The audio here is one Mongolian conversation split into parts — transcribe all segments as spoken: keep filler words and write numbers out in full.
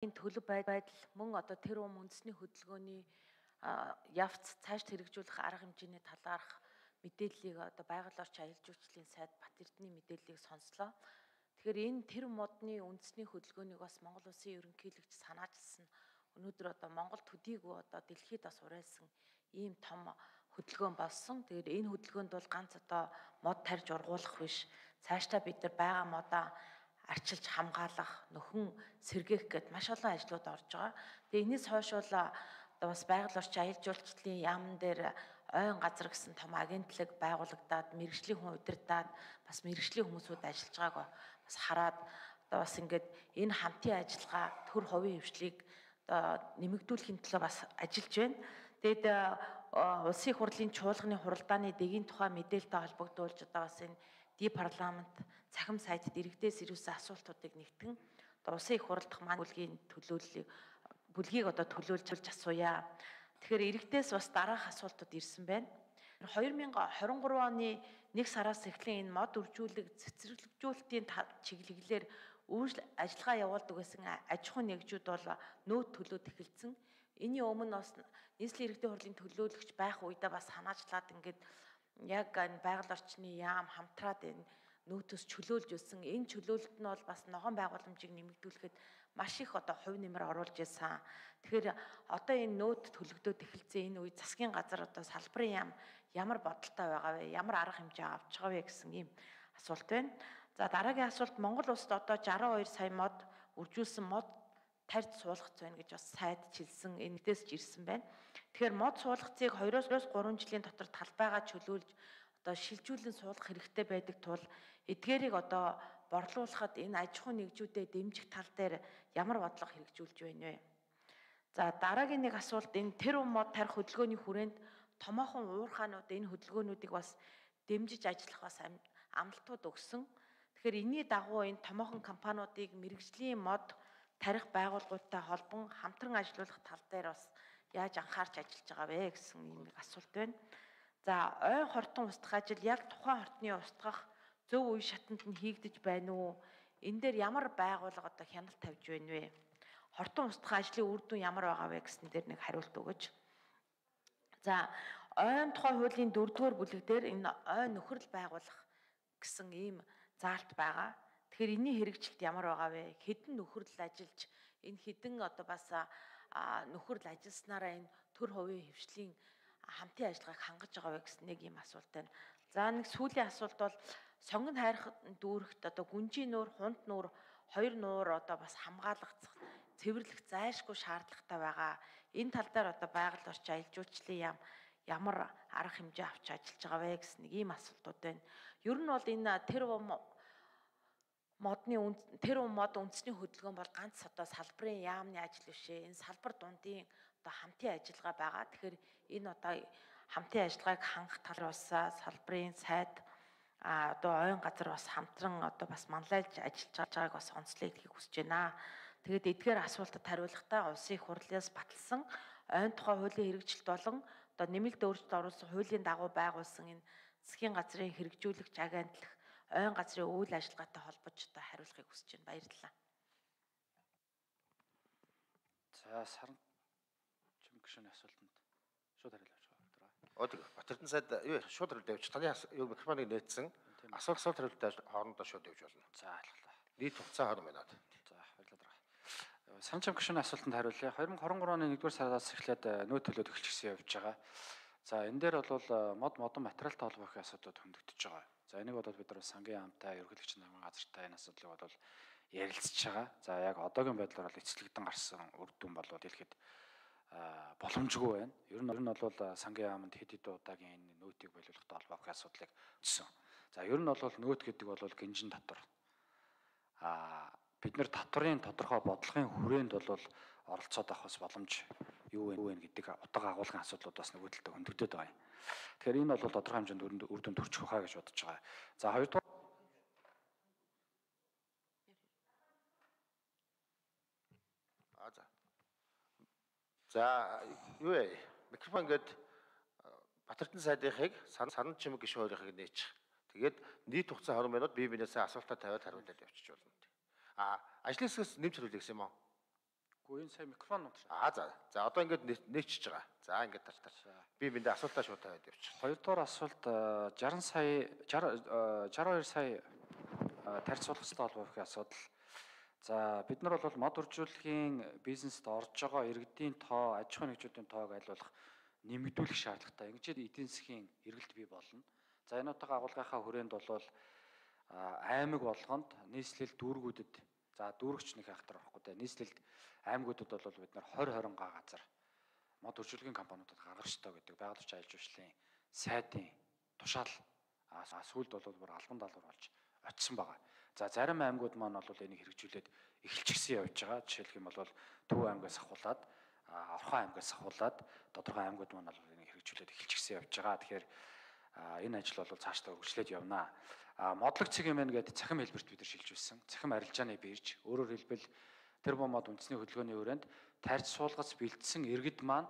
Энэ төлөв байдал мөн одоо тэр ум үндэсний хөдөлгөөний явц цааш хэрэгжүүлэх арга хэмжээний талаарх мэдээллийг одоо байгаль орчин аялал жуулчлалын сайд Бат Эрдэнэ мэдээллийг сонслоо. Тэгэхээр энэ тэр модны үндэсний хөдөлгөөнийг бас Монгол Улсын ерөнхийлөгч санаачилсан. Өнөөдөр одоо Монгол төдийгүй одоо дэлхийд бас уриалсан ийм том хөдөлгөөн болсон. Тэгэхээр энэ хөдөлгөөнд бол ганц одоо мод тарьж ургуулах биш. Цаашдаа бид нар байгаа модоо арчилж хамгаалах, нөхөн сэргээх гэд маш олон ажлууд орж байгаа. Тэгээ энэс хойш бол одоо бас байгаль орчин аялал жуулчлалын яамн дээр ойн газар гэсэн том агентлаг байгуулагдаад мэрэгжлийн хүн удирдаад бас мэрэгжлийн хүмүүсүүд ажиллаж байгааг бас хараад одоо бас ингээд энэ хамтын ажиллагаа төр хувийн хвшлийг одоо нэмэгдүүлэхийн төлөө бас ажиллаж байна. Тэгэд улсын их хурлын чуулганы хуралдааны дэгийн тухай мэдээлэлтэй холбогдуулж одоо бас энэ ди парламент цахим сайтад иргэдээс ирүүлсэн асуултуудыг нэгтгэн одоо улсын их хурал дахь маань бүлгийн төлөөллийг бүлгийг одоо төлөөлж асууя. Тэгэхээр иргэдээс бас дараах асуултууд ирсэн байна. хоёр мянган хорин гурван оны нэг сараас эхлэн энэ мод үржүүлэг цэцэрлэгжүүлэлтийн чиглэлээр үйлчлэл ажиллагаа явуулдаг гэсэн аж ахуйн нэгжүүд бол нөөц төлөөд эхэлсэн. Энийн өмнө бас нийслэлийн иргэдийн хурлын төлөөлөгч байх үедээ бас санаачлаад ингээд яг энэ байгаль орчны яам хамтраад энэ нөөтөс чөлөөлж өссөн. Энэ чөлөөлөлт нь бол бас ногоон байгууламжийг нэмэгдүүлэхэд маш их одоо хувь нэмэр оруулж ирсэн. Тэгэхээр одоо энэ нөөт төлөгдөөд эхэлсэн энэ үе засгийн газар одоо салбарын яам ямар бодолтой байгаа вэ? Ямар арга хэмжээ авч байгаа вэ гэсэн ийм асуулт байна. За дараагийн асуулт Монгол улсад одоо шестьдесят two сая мод үржүүлсэн мод тарьж суулгац байна гэж бас сайд чилсэн энэдээс ч ирсэн байна. Тэгэхээр мод суулгацыг two-оос three жилийн дотор талбайгаа чөлөөлж одоо шилжүүлэн суулгах хэрэгтэй байдаг тул эдгээрийг одоо борлуулахад энэ аж ахуйн нэгжүүдэд дэмжих тал дээр ямар бодлого хэрэгжүүлж байна вэ? За дараагийн нэг асуулт энэ тэр ум мод тарих хөдөлгөөний хүрээнд томоохон уурхаанууд энэ хөдөлгөөнүүдийг бас дэмжиж ажиллах бас амлалтууд өгсөн. Тэгэхээр энэний дагуу энэ томоохон компаниудыг мэрэгжлийн мод тарих байгууллагуудтай холбон хамтран ажиллах тал дээр бас яаж анхаарч ажиллаж байгаа вэ гэсэн ийм асуулт байна. За ойн хортон устгах ажил яг тухайн хортны устгах зөв үе шатанд нь хийгдэж байна уу? Энэ дээр ямар байгууллага одоо хяналт тавьж байна вэ? Хортон устгах ажлын үр дүн ямар байгаа вэ гэсэн дээр нэг хариулт өгөөч. За ойн тухай хуулийн дөрөвдүгээр бүлэг дээр энэ ойн нөхөрл байгуулах гэсэн ийм заалт байгаа. Тэгэхээр энэний хэрэгжилт ямар байгаа вэ? Хэдэн нөхөрл ажиллаж энэ хэдэн одоо бас нөхөрл ажилласнараа энэ төр хувийн хвшлийн хамтын ажиллагааг хангаж байгаа вэ гэсэн нэг ийм асуулт байна. За нэг сүүлийн асуулт бол сонгон хайрах дүүрэгт одоо гүнжийн нуур, хунт нуур, хоёр нуур одоо бас хамгаалах, цэвэрлэх зайлшгүй шаардлагатай байгаа. Энэ тал дээр одоо байгаль орчин аялал жуулчлалын яам ямар арга хэмжээ авч ажиллаж байгаа вэ гэсэн нэг ийм асуултууд байна. Ер нь бол энэ тэр модны тэр мод үндэсний хөдөлгөөн бол ганц одоо салбарын яамны ажил бишээ. Энэ салбар дундын одоо хамтын ажиллагаа байгаа. Тэгэхээр энэ одоо хамтын ажиллагааг хангах тал бас салбарын сайд а одоо ойн газар бас хамтран одоо бас манлайлж ажиллаж байгааг бас онцлог хийх хүсэж байна. Тэгээд эдгээр асуултад хариулахдаа улсын их хурлаас баталсан ойн тухай хуулийн хэрэгжилт болон одоо нэмэлт өөрчлөлт оруулсан хуулийн дагуу байгуулсан энэ засгийн газрын хэрэгжүүлэгч агентлаг ойн газрын үйл ажиллагаатай холбож одоо хариулахыг хүсэж байна. Баярлалаа. За саран чим гишүүний асуултанд шууд хариулж байгаа. Од Бат Эрдэнэ сайд юу шууд хариулт явууч. Таны юу микрофоныг нээсэн. Асуулт асуулт хариултаа хоорондоо шууд явж болно. За алхлаа. Нийт хугацаа хоног байна. За баярлалаа. Саран чим гишүүний асуултанд хариулъя. two thousand twenty-three оны нэгдүгээр сараас эхлээд нөөц төлөөд эхэлчихсэн явж байгаа. За энэ дээр бол мод модон материалтай холбоотой асуудлууд хөндөгдөж байгаа. За энийг бол бид нар сангийн яамтай, ерөнхийлөгч намын газартай энэ асуудлыг бол ярилцж байгаа. За яг одоогийн байдлаар бол эцэлэгдэн гарсан үр дүн бол дэлгэхэд боломжгүй байна. Ер нь нь бол сангийн яамд хэд хэд удаагийн энэ нөөтийг боловлохтой холбоотой асуудлыг өссөн. За ер нь бол нөөт гэдэг бол гинжин татвар. А бид нар татварын тодорхой бодлогын хүрээнд бол оролцоод авах бас боломж юу вэ юу вэ гэдэг утга агуулгын асуудлууд бас нөгөө талд хөндөгдөд байгаа юм. Тэгэхээр энэ бол тодорхой хэмжээнд үр дүнд хүрчих واخа гэж бодож байгаа. За хоёрдугаар А за. За юу вэ? Микрофон гээд Бат Эрдэнэ сайдынхыг саран чимэг гишүүн хоёрыг нээчих. Тэгээд нийт хугацаа twenty минут бие биенээсээ асуултаа тавиад хариулаад явчих болно. А ажлын хэсгээс нэмж хариулъя гэсэн юм уу? Үгүй энэ сая микрофон унтраа. Аа за. За одоо ингээд нээчихэж байгаа. За ингээд тал тал. Би биндээ асуултаа шууд тавиад явчих. Хоёрдугаар асуулт шестьдесят сая шестьдесят хоёр сая тарьц суулгацтай холбоо гэх асуудал. За бид нар бол мод үржүүлэхийн бизнест орж байгаа иргэдийн тоо, аж ахуйн нэгжүүдийн тоог айлуулах нэмэгдүүлэх шаардлагатай. Ингэж эдийн засгийн эргэлт бий болно. За энэ утга агуулгынхаа хүрээнд бол аймаг болгонд нийслэл дүүргүүдэд за дүүргч нэг хахтар байхгүй те нийслэлд аймагуудад бол бид нар тwenty twenty га газар мод үржүүлэхийн компаниудад гаргах ёстой гэдэг байгаль орчин аялал жуулчлалын сайдын тушаал сүүлд бол бүр албан даалгавар болж очсон байгаа. За зарим аймагуд маань бол энийг хэрэгжүүлээд эхэлчихсэн явж байгаа. Жишээлх юм бол Төв аймгаас ахуулаад, Орхон аймгаас ахуулаад тодорхой аймагуд маань бол энийг хэрэгжүүлээд эхэлчихсэн явж байгаа. Тэгэхээр энэ ажил бол цаашдаа үргэлжлээд явна. Модлог цэг хэмээн гэдэг цахим хэлбэрт бид нар шилжүүлсэн. Цахим арилжааны бирж, өөрөөр хэлбэл Тэрбомод үндэсний хөдөлгөөний хүрээнд тарьц суулгац бэлдсэн иргэд маань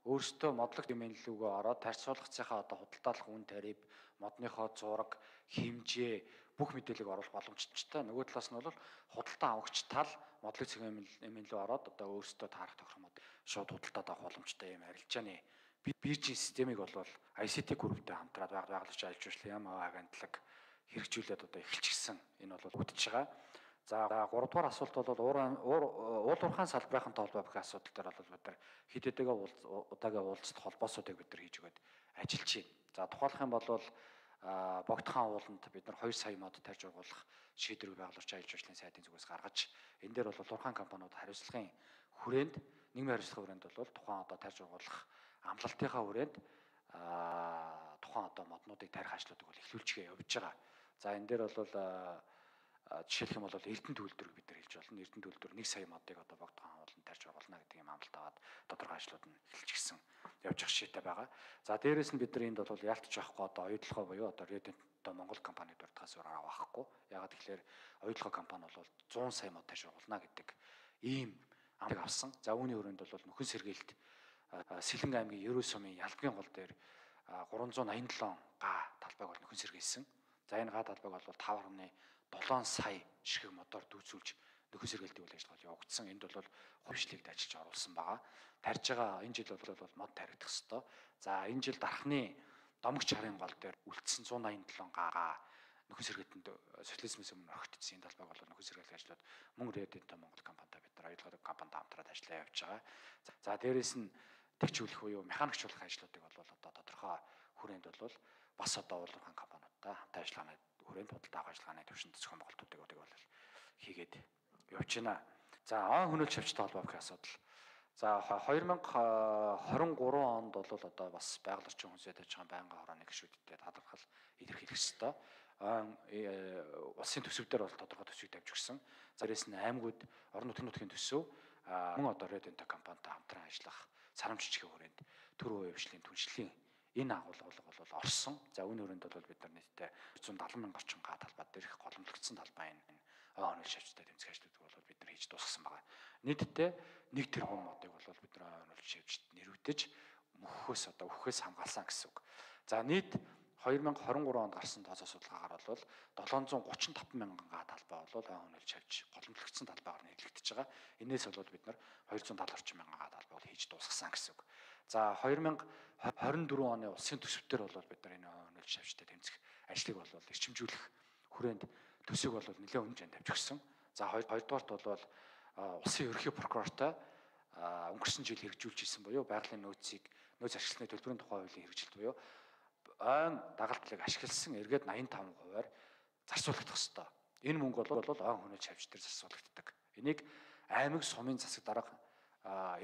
өөрсдөө модлог хэмээнлүүгөө ороод тарьц суулгацынхаа одоо худалдаалах үн тариф, модныхоо зураг, хэмжээ бүх мэдээллийг оруулах боломжтой. Нөгөө талаас нь бол худалдан авагч тал модлог цэг хэмээнлүү ороод одоо өөрсдөө таарах тохиромжтой шууд худалдаад авах боломжтой юм арилжааны биржийн системийг бол ай си ти групптэй хамтраад байгаль орчин аялал жуулчлалын яам агентлаг хэрэгжүүлээд одоо эхэлчихсэн. Энэ бол үдчихэж байгаа. За гуравдугаар асуулт бол уул уурхайн салбарын толгой бүх асуудал дээр бол бид нар хэд хэдийгээ удаагийн уулзалт холбоосуудыг бид нар хийж өгöd ажиллаж байна. За тухайлах юм бол Богдхан ууланд бид нар two сая мод тарьж ургуулах шийдвэрийг байгаль орчин аялал жуулчлалын сайдын зүгээс гаргаж энэ дээр бол уурхайн компаниуд хариуцлагын хүрээнд нийгмийн хариуцлагын хүрээнд бол тухайн одоо тарьж ургуулах амлалтынхаа хүрээнд тухайн одоо моднуудыг тарих ажлуудыг бол эхлүүлчихээ явж байгаа. За энэ дээр бол жишээлх юм бол Эрдэнэ төлөвлөрийг бид нар хэлж болно. Эрдэнэ төлөвлөр one сая модыг одоо Богдхан ууланд тарьж ургуулна гэдэг юм амлалт аваад тодорхой ажлууд нь эхэлчихсэн явж ах шийдэ байгаа. За дээрэс нь бид нар энд бол яалтч авахгүй одоо оюутлогоо буюу одоо Redent одоо Монгол компанид урдгаас өөр авахгүй. Ягаад тэгэхээр оюутлогоо компани бол one hundred сая мод тарьж ургуулна гэдэг ийм амлалт авсан. За үүний хүрээнд бол нөхөн сэргээлт Сэлэн аймгийн Ерөө сумын Ялбгийн гол дээр three hundred eighty-seven га талбайг бол нөхөн сэргээсэн. За энэ га талбайг бол five point seven сая ширхэг модоор дүүцүүлж нөхөн сэргээлтийн үйл ажиллагаа явагдсан. Энд бол хувьчлалыг ажиллаж оруулсан байгаа. Тарьж байгаа энэ жил бол мод таригдах ёстой. За энэ жил дархны домогч харын гол дээр үлдсэн one hundred eighty-seven га нөхөн сэргээлтэнд социализмээс өмнө орхигдсон энэ талбайг бол нөхөн сэргээлт ажлууд мөн Redent Монгол компанитай бид нар оюутлогоо компанитай хамтраад ажиллаа явж байгаа. За дээрэс нь тэгчүүлэх буюу механикчлах ажлуудыг бол одоо тодорхой хүрээнд бол бас одоо уулуурхайн компаниудтай хамт ажиллагааны хүрээнд худалдаа авах ажиллагааны төвшөнд зохион байгуулалтуудыг бол хийгээд явж байна. За он хөнөөлж шавчтай холбоо гэх асуудал. За twenty twenty-three онд бол одоо бас байгаль орчин хүнсээ тааж байгаа байнгын хорооны гишүүдтэй талархал илэрхийлэх ёстой. Улсын төсөв дээр бол тодорхой төсвийг тавьж өгсөн. За дээрээс нь аймагуд орон нутгийн нутгийн төсөв мөн одоо Redent компанитай хамтран ажиллах сарамж жижиг хүрээнд төр үе хвшлийн түншлэлийн энэ агуулга бол орсон. За үүний хүрээнд бол бид нар нийтдээ one hundred seventy мянган орчим га талбай дээрх голомлогдсон талбай энэ ой хөнөөлж шавчтай тэмцэх ажлуудыг бол бид нар хийж дуусгасан байгаа. Нийтдээ one тэрбум модыг бол бид нар ой хөнөөлж шавчт нэрвдэж мөхөхөөс одоо өхөхөөс хамгаалсан гэсэн үг. За нийт twenty twenty-three онд гарсан тооцоо судалгаагаар бол seven hundred thirty-five мянган га талбай бол ой хөнөөлж шавж голомлогдсон талбайгаар нэрлэгдэж байгаа. Энээс бол бид нар two hundred seventy орчим мянган га талбай бол хийж дуусгасан гэсэн үг. За twenty twenty-four оны улсын төсөвтөр бол бид нар энэ ой хөнөөлж шавчтай тэмцэх ажлыг бол эрчимжүүлэх хүрээнд төсөв бол нэлээд өндөр хэмжээнд тавьж өгсөн. За хоёрдугаарт бол улсын ерөнхий прокурортой өнгөрсөн жил хэрэгжүүлж исэн буюу байгалийн нөөцийг нөөц ашигласны төлбөрийн тухай хуулийн хэрэгжилт буюу ойн дагалдлыг ашигласан эргээд eighty-five хувиар зарцуулагдах ёстой. Энэ мөнгө бол ой хөнөөлж шавж дээр зарцуулагддаг. Энийг аймаг сумын засаг дарга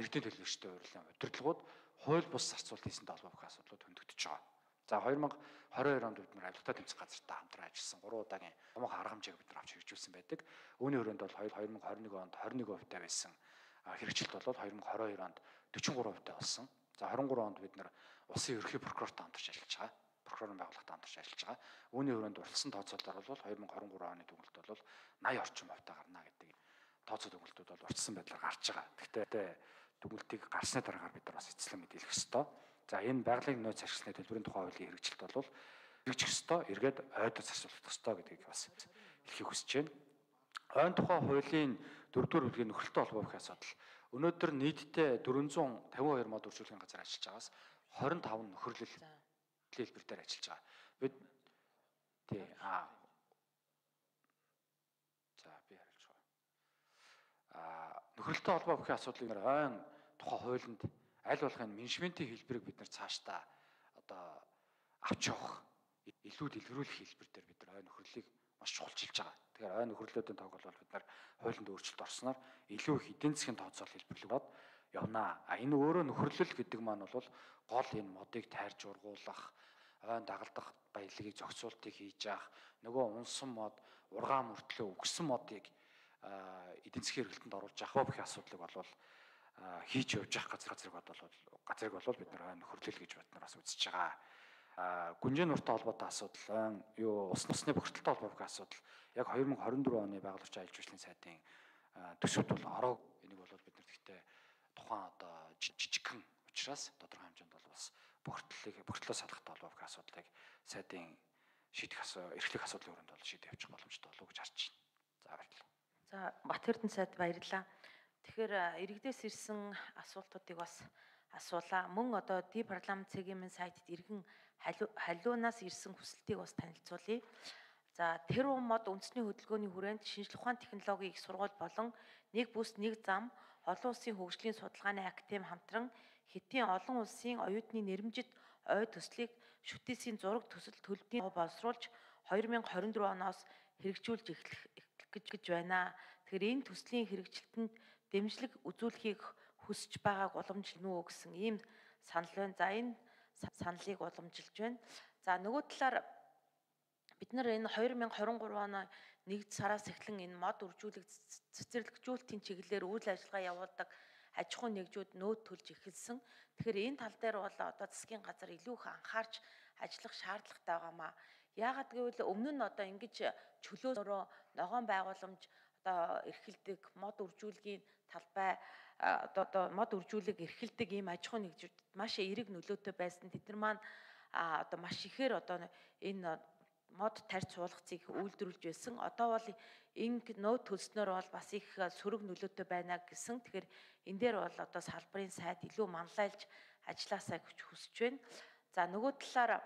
иргэдийн төлөөлөгчтэй урьдчилан удирдлагууд хууль бус зарцуулалт хийсэн толгой бүх асуудлууд хөндөгдөж байгаа. За twenty twenty-two онд бид нар авилгатай тэмцэх газартай хамтран ажилласан three удаагийн томоохон арга хэмжээг бид нар авч хэрэгжүүлсэн байдаг. Үүний хүрээнд бол twenty twenty-one онд twenty-one percent байсан хэрэгжилт бол twenty twenty-two онд forty-three percent болсон. За twenty-three онд бид нар улсын ерөнхий прокурортой хамтарч ажиллаж байгаа. Прокурорын байгууллагатай хамтарч ажиллаж байгаа. Үүний хүрээнд урьдчилсан тооцоололоор бол twenty twenty-three оны дүгнэлт бол ninety орчим хувьтай гарна гэдэг тооцоо дүгнэлтүүд бол урьдчилсан байдлаар гарч байгаа. Гэхдээ дүгнэлтийг гарсны дараагаар бид нар бас эцэслэн мэдээлэх ёстой. За энэ байгалийн нөөц ашигласны төлбөрийн тухай хуулийн хэрэгжилт бол хэрэгжих ёстой, эргээд ойдод зарцуулах ёстой гэдгийг бас хэлхийг хүсэж байна. Ойн тухай хуулийн дөрөвдүгээр бүлгийн нөхөлтөй холбоо гэх асуудал. Өнөөдөр нийтдээ дөрвөнзүүн тавин хоёр мод үржүүлэхийн газар ажиллаж байгаас хорин тав нөхөрлөл хэлбэр дээр ажиллаж байгаа. Бид тий аа за би хариулж байгаа. Аа нөхөрлөлтөй холбоо бүхий асуудлыг ойн тухайн хуулинд аль болохын менежментийн хэлбэрийг бид нар цаашдаа одоо авч явах илүү дэлгэрүүлэх хэлбэр дээр бид нар ойн нөхөрлөлийг маш чухалчилж байгаа. Тэгэхээр ойн нөхөрлөлтийн тог бол бид нар хуулинд өөрчлөлт орсноор илүү их эдийн засгийн тооцоол хэлбэрлэгдээд явнаа. А энэ өөрөө нөхөрлөл гэдэг маань бол гол энэ модыг тайрж ургуулах, ойн дагалдах баялагийг зохицуултыг хийж явах, нөгөө унсан мод, ургаан мөртлөө үгсэн модыг эдийн засгийн эргэлтэнд оруулж авах бүх асуудлыг бол хийж явж явах газар газрыг бол газрыг бол бид нар ойн нөхөрлөл гэж бид нар бас үзэж байгаа. А гүнжээ нуртай холбоотой асуудал, юу ус нусны бохирдолтой холбоотой асуудал яг хоёр мың хорин дөрөв оны байгуулагч аялал жуулчлалын сайдын төсөвт бол ороо энийг бол бид нар гэхдээ тухайн одоо жижигхэн учраас тодорхой хэмжээнд бол бас бохирдлыг бохирдлоо салахтай холбоотой асуудлыг сайдын шийдэх эрхлэх асуудлын өрөөнд бол шийдэж явчих боломжтой болов уу гэж харж байна. За баярлалаа. За Бат Эрдэнэ сайд баярлалаа. Тэгэхээр иргэдээс ирсэн асуултуудыг бас асуулаа. Мөн одоо Ди парламент цэгийн сайтад иргэн халиунаас ирсэн хүсэлтийг бас танилцуулъя. За тэр мод үндэсний хөдөлгөөний хүрээнд шинжлэх ухааны технологийн их сургууль болон нэг бүс нэг зам олон улсын хөгжлийн судалгааны актем хамтран Хятадын олон улсын оюутны нэрмжит ой төслийг шүтээсийн зураг төсөл төлбөрийн боловсруулж хоёр мың хорин дөрөв оноос хэрэгжүүлж эхлэх гэж байна. Тэгэхээр энэ төслийн хэрэгжилтэнд дэмжлэг үзүүлэхийг хүсэж байгааг уламжилна уу гэсэн ийм санал байна. За энэ саналыг уламжилж байна. За нөгөө талаар бид нар энэ хоёр мың хорин гурав оны нэгд сараас эхлэн энэ мод үржүүлэх цэцэрлэгжүүлэлтийн чиглэлээр үйл ажиллагаа явуулдаг аж ахуйн нэгжүүд нөөц төлж эхэлсэн. Тэгэхээр энэ тал дээр бол одоо засгийн газар илүү их анхаарч ажиллах шаардлагатай байгаамаа. Яагаад гэвэл өмнө нь одоо ингэж чөлөөрөө ногоон байгууламж одоо эрхэлдэг мод үржүүлгийн талбай одоо одоо мод үржүүлэг эрхэлдэг ийм аж ахуйн нэгжүүд маш эерэг нөлөөтэй байсан. Тэд нар маань одоо маш ихээр одоо энэ мод тарьж суулгацыг үйлдвэрлэж байсан. Одоо бол энэ нөөц төлснөр бол бас их сөрөг нөлөөтэй байна гэсэн. Тэгэхээр энэ дээр бол одоо салбарын сайд илүү манлайлж ажилласаа гэж хүсэж байна. За нөгөө талаар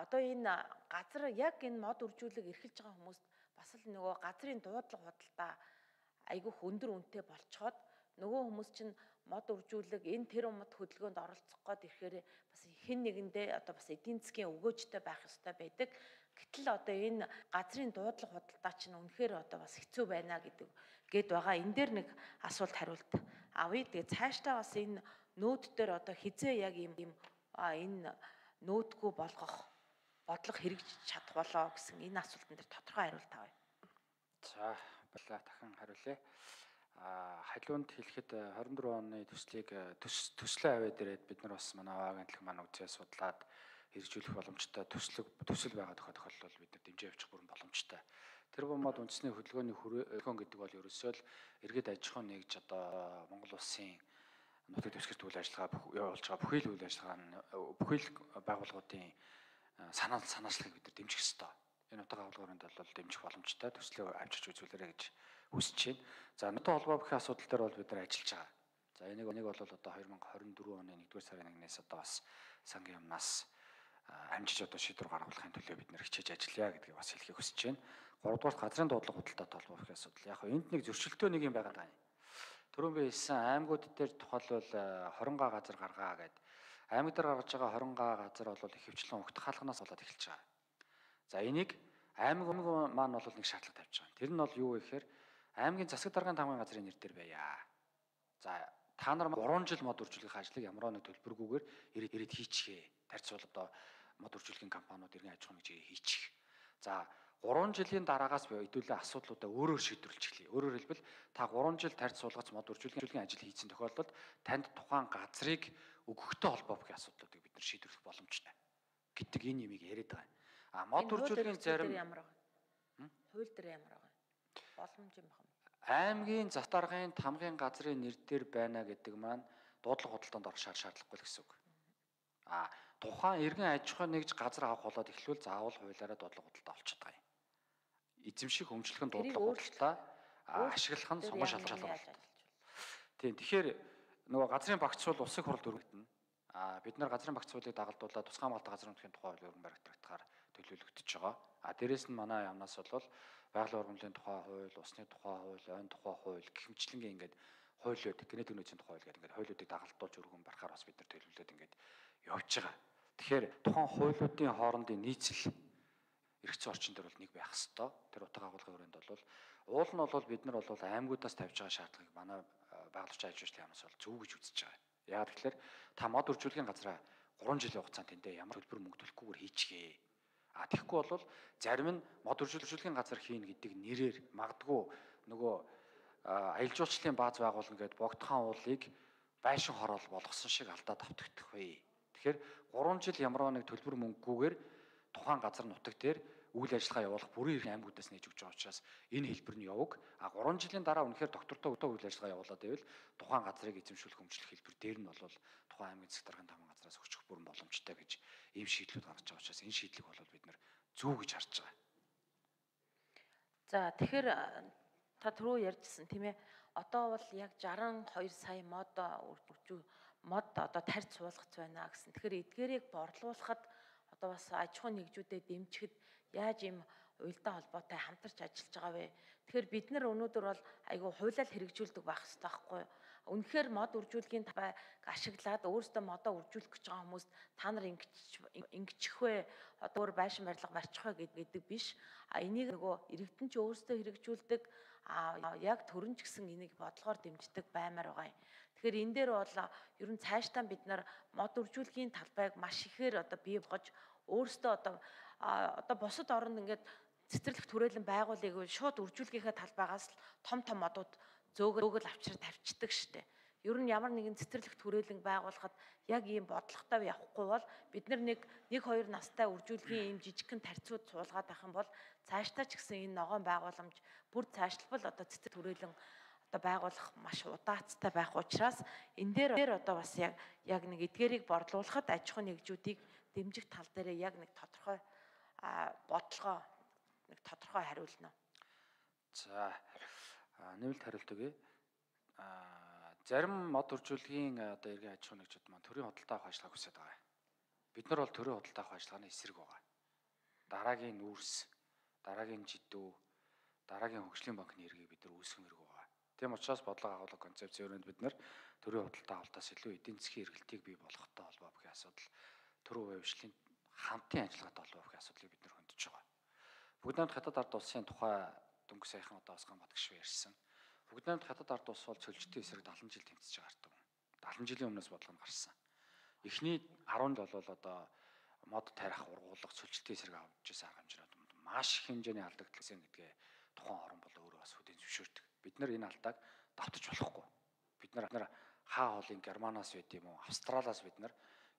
одоо энэ газар яг энэ мод үржүүлэг эрхэлж байгаа хүмүүст бас л нөгөө газрын дуудлага худалдаа айгүй өндөр үнэтэй болцоход нөгөө хүмүүс чинь мод үржүүлэг энэ тэр мод хөдөлгөөнд оролцох гээд ирэхээр бас хэн нэгэндээ одоо бас эдийн засгийн өгөөжтэй байх ёстой байдаг. Гэтэл одоо энэ газрын дуудлага худалдаа чинь үнэхээр одоо бас хэцүү байна гэдэг гээд байгаа. Энэ дээр нэг асуулт хариулт авъя. Тэгээ цаашдаа бас энэ нөөд дээр одоо хизээ яг юм юм энэ нөөдгөө болгох бодлого хэрэгжиж чадах болоо гэсэн энэ асуултан дээр тодорхой хариулт авъя. За баярлалаа, дахин хариулъя. А халиунд хэлэхэд хорин дөрөв оны төслийг төслийн аваа дээрээ бид нар бас манай агентлаг маань үзээ судлаад хэрэгжүүлэх боломжтой төслөг төсөл байгаа тохиолдолд бол бид нар дэмжиж явчих бүрэн боломжтой. Тэр бомбод үндэсний хөдөлгөөний хөдөлгөөн гэдэг бол ерөөсөө л иргэд аж ахуйн нэгж одоо Монгол улсын нутаг дэвсгэрт үйл ажиллагаа явуулж байгаа бүхий л үйл ажиллагаа нь бүхий л байгууллагуудын санаал санаачлагыг бид нар дэмжих ёстой. Энэ утга агуулгааранд бол дэмжих боломжтой төслөө авчирч үзүүлээрэй гэж хүсэж байна. За нутаг холбоо бүхий асуудал дээр бол бид нар ажиллаж байгаа. За энийг энийг бол одоо хоёр мың хорин дөрөв оны нэгдүгээр сарын нэгнээс одоо бас сангийн юмнаас амжиж одоо шийдвэр гаргахын төлөө бид нэр хичээж ажиллая гэдгийг бас хэлхийг хүсэж байна. гуравдугаар газрын дуудлага худалдаатай холбоо бүхий асуудал. Яг энд нэг зөрчилтөө нэг юм байгаа даа. Түрүүн би хэлсэн аймагуд дээр тухайлбал хорингаа газар гаргаа гэдэг. Аймаг дээр гаргаж байгаа хорингаа газар бол ихэвчлэн угтах хаалганаас болоод эхэлж байгаа. За энийг аймаг маань бол нэг шаардлага тавьж байгаа. Тэр нь бол юу вэ гэхээр аймгийн засаг даргын тамгын газрын нэр дээр байя. За та нар гурван жил мод үржүүлэх ажлыг ямар нэг төлбөргүйгээр ирээд ирээд хийчихээ. Тарьцуул одоо мод үржүүлэхийн компаниуд иргэн аж ахуйн нэгжийг хийчих. За гурван жилийн дараагаас хэдүүлээ асуудлуудаа өөрөөр шийдвэрлэж эхлэе. Өөрөөр хэлбэл та гурван жил тарьц суулгац мод үржүүлэхийн ажил хийсэн тохиолдолд танд тухайн газрыг өгөхтэй холбоо бүхий асуудлуудыг бид нар шийдвэрлэх боломжтой гэдэг энэ юмыг яриад байгаа. А мод үржүүлэхийн зарим ямар байгаа? Хууль дээр ямар байгаа? Боломж юм байна. Аймгийн засаг даргын тамгын газрын нэр дээр байна гэдэг маань дуудлага худалдаанд орох шаардлагагүй л гэсэн үг. А тухайн иргэн аж ахуйн нэгж газар авах болоод эхлүүл заавал хуулиараа дуудлага худалдаа олчиход байгаа юм. Эзэмших, өмчлөх нь дуудлага худалдаа ашиглах нь сонгон шалгуулах болно. Тийм. Тэгэхээр нөгөө газрын багц бол улсын хуралд өргөгдөнө. А бид нар газрын багц хуулийг дагалдуулаад тусгай малтай газрын нутгийн тухай хууль өргөн баригдахаар төлөвлөгдөж байгаа. А дээрэс нь манай яамнаас бол байгалийн ургамлын тухай хууль, усны тухай хууль, ойн тухай хууль гэх мэтлэнгийн ингээд хуулиуд, генетик нөөцийн тухай хууль гэдэг ингээд хуулиудыг дагалдуулж өргөн барихаар бас бид нар төлөвлөд ингээд явж байгаа. Тэгэхээр тухайн хуулиудын хоорондын нийцэл эргэцэн орчин дээр бол нэг байх хэвээр. Тэр утга агуулгын хүрээнд бол уул нь бол бид нар бол аймагуудаас тавьж байгаа шаардлагыг манай байгаль орчин аж ахуйн яамнаас бол зөв гэж үзэж байгаа. Яагаад тэгэхээр та мод үржүүлгийн газраа гурван жилийн хугацаанд тэндээ ямар төлбөр мөнгө төлөхгүйгээр хийчихээ. А тэгэхгүй бол зарим нь мод үржүүлгийн газар хийн гэдэг нэрээр магадгүй нөгөө аялал жуулчлалын бааз байгуулна гэд богдхан уулыг байшин хороол болгосон шиг алдаад автагдах вэ. Тэгэхээр гурван жил ямар нэг төлбөр мөнгөгүйгээр тухайн газар нутаг дээр үйл ажиллагаа явуулах бүрийн эрх аймагуудаас нээж өгч байгаа учраас энэ хэлбэр нь яваг. А гурван жилийн дараа үнэхээр доктортой өдөө үйл ажиллагаа явуулаад байвал тухайн газрыг эзэмшүүлэх хөгжлөх хэлбэр дээр нь бол тухайн аймгийн засаг даргын тамга газраас өгчих бүрэн боломжтой гэж ийм шийдлүүд гаргаж байгаа учраас энэ шийдлийг бол бид нар зөв гэж харж байгаа. За тэгэхээр та түрүү ярьжсэн тийм ээ. Одоо бол яг шестдесет и two сая мод үржүү мод одоо тарьж суулгац байна гэсэн. Тэгэхээр эдгээрийг борлуулахад одоо бас аж ахуйн нэгжүүдэд дэмжихэд яаж ийм уялдаа холбоотой хамтарч ажиллаж байгаа вэ? Тэгэхээр бид нар өнөөдөр бол айгүй хуулиар хэрэгжүүлдэг байх хэрэгтэй байхгүй юу? Үнэхээр мод үржүүлгийн талбайг ашиглаад өөрсдөө модоо үржүүлэх гэж байгаа хүмүүст та нар ингэчих вэ? Одоо өөр байшин барилга барьчих вэ гэдэг биш. А энийг нөгөө иргэдэн ч өөрсдөө хэрэгжүүлдэг, а яг төрөн ч гэсэн энийг бодлогоор дэмждэг баймаар байгаа юм. Тэгэхээр энэ дээр бол ер нь цаашдаа бид нар мод үржүүлгийн талбайг маш ихээр одоо бий болгож өөрсдөө одоо одоо бусад оронд ингээд цэцэрлэг түрээлэн байгуулыг шууд үржүүлгийнхээ талбайгаас л том том модууд зөөгөл авчраад тавьчихдаг штеп. Ер нь ямар нэгэн цэцэрлэг түрээлэн байгуулахад яг ийм бодлоготой явахгүй бол бид нар нэг нэг хоёр настай үржүүлгийн ийм жижигхэн тарцууд суулгаад байх юм бол цаашдаа ч гэсэн энэ ногоон байгууламж бүр цаашлбал одоо цэцэрлэг түрээлэн одоо байгуулах маш удаацтай байх учраас энэ дээр одоо бас яг яг нэг эдгээрийг борлуулахад аж ахуйн нэгжүүдийг дэмжих тал дээр яг нэг тодорхой бодлогоо нэг тодорхой хариулна. За нэмэлт хариулт өгье. Зарим мод үржүүлгийн одоо эргэн аж ахуйн нэгжүүд маань төрийн худалдаа авах ажиллагааг хүсэж байгаа. Бид нар бол төрийн худалдаа авах ажиллагааны эсрэг байгаа. Дараагийн нүүрс, дараагийн жидүү, дараагийн хөгжлийн банкны эргийг бид нар үүсгэн хэрэг байгаа. Тийм учраас бодлого агуулга концепцийн өрөөнд бид нар төрийн худалдаа авалтаас илүү эдийн засгийн эргэлтийг бий болгохтой холбоо бүхий асуудал, төрийн хувьчлалын хамтын ажиллагаатай холбоо бүхий асуудлыг бид нар хөндөж байгаа. Бүгд найрамд хятад ард улсын тухай дөнгөж саяхан одоо бас гамбат гişв ярьсан. Бүгд найрамд хятад ард улс бол цөлжтэй эсрэг дагалан жил тэмцэж байгаа хэрэг. дагалан жилийн өмнөөс бодлого нь гарсан. Эхний арван жил бол одоо мод тарих, ургуулга, цөлжтэй эсрэг авч ирсэн арга хэмжээнд маш их хэмжээний алдагдсан гэдгээ тухайн орн бол өөрөө бас хүлээн зөвшөөрдөг. Бид нар энэ алдааг давтаж болохгүй. Бид нар хаа хоолын Германаас байд юм уу, Австралиас бид нар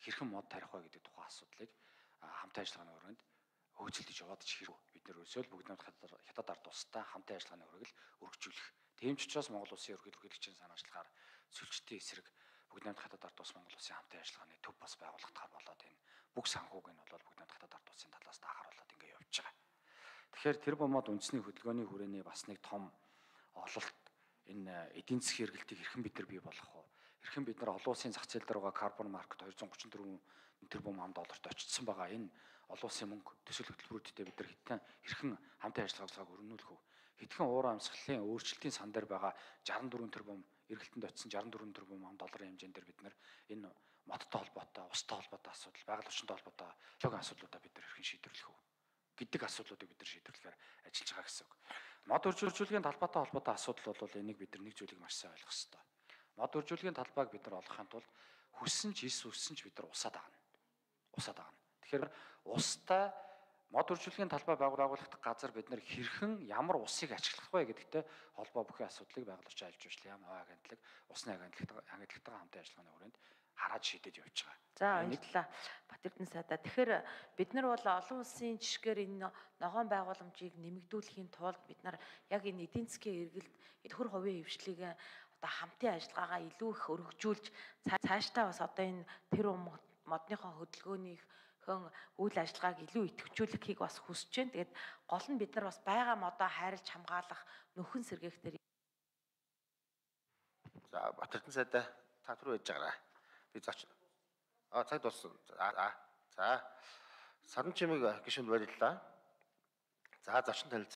хэрхэн мод тарих вэ гэдэг тухайн асуудлыг хамтын ажиллагааны өрөөнд хөгжүүлж яваад ч хэрэг. Бид нар өсөөл бүгд найрамд хятад ард улстай хамтын ажиллагааны өрөөгөл өргөжүүлэх. Тийм ч учраас Монгол улсын ерөнхийлөгчийн санаачлахаар цөлжтэй эсрэг бүгд найрамд хятад ард улс Монгол улсын хамтын ажиллагааны төв бас байгуулагдахаар болоод энэ бүх санхүүг нь бол бүгд найрамд хятад ард улсын талаас тахааруулаад ингэ явж байгаа. Тэгэхээр тэр бомод үндэсний хөдөлгөөний хүрээний бас нэг том ололт энэ эдийн засгийн эргэлтийг хэрхэн бид нар бий болгох вэ? Хэрхэн бид нар олон улсын зах зээл дээр байгаа карбон маркет two hundred thirty-four тэрбум ам долларт очсон байгаа энэ олон улсын мөнгө төсөл хөтөлбөрүүдтэй бид нар хэдхэн хэрхэн хамтын ажиллагааг өргөнүүлэх вэ? Хэдхэн уур амьсгалын өөрчлөлтийн сан дээр байгаа sixty-four тэрбум эргэлтэнд очсон sixty-four тэрбум ам долларын хэмжээнд дээр бид нар энэ модтой холбоотой, устай холбоотой асуудал, байгаль орчинтой холбоотой логийн асуудлуудаа бид нар хэрхэн шийдвэрлэх вэ гэдэг асуудлуудыг бид нар шийдвэрлэхээр ажиллаж байгаа гэсэн үг. Мод үржүүлгийн талбайтай холбоотой асуудал бол энийг бид нар нэг зүйлийг маш сайн ойлгох хэрэгтэй. Мод үржүүлгийн талбайг бид нар олохын тулд хүссэн ч эс үссэн ч бид нар усаад аана. Усаад аана. Тэгэхээр устай мод үржүүлгийн талбай байгуулагдах газар бид нар хэрхэн ямар усыг ашиглах вэ гэдэгтэй холбоо бүхий асуудлыг байгаль орчин аж ахуйн яам аваа агентлаг, усны агентлагтай агентлагтайгаа хамтын ажиллагааны хүрээнд хараад шийдэж явж байгаа. За баярлалаа Батэрдэн сайдаа. Тэгэхээр бид нар бол олон улсын жишгээр энэ ногоон байгууламжийг нэмэгдүүлэхийн тулд бид нар яг энэ эдийн засгийн эргэлт төр хувийн хвшлийг одоо хамтын ажиллагаагаа илүү их өргөжүүлж цаашдаа бас одоо энэ тэр модныхоо хөдөлгөөнийхэн үйл ажиллагааг илүү идэвхжүүлэхийг бас хүсэж байна. Тэгээд гол нь бид нар бас байгаа модоо хайрлж хамгаалах нөхөн сэргээх дээр За Батэрдэн сайдаа та түр байж байгаарай. Би зоч. А цаг дууссан. За за. Садан чимэг гишүүнд баярлалаа. За зочин танилцуулга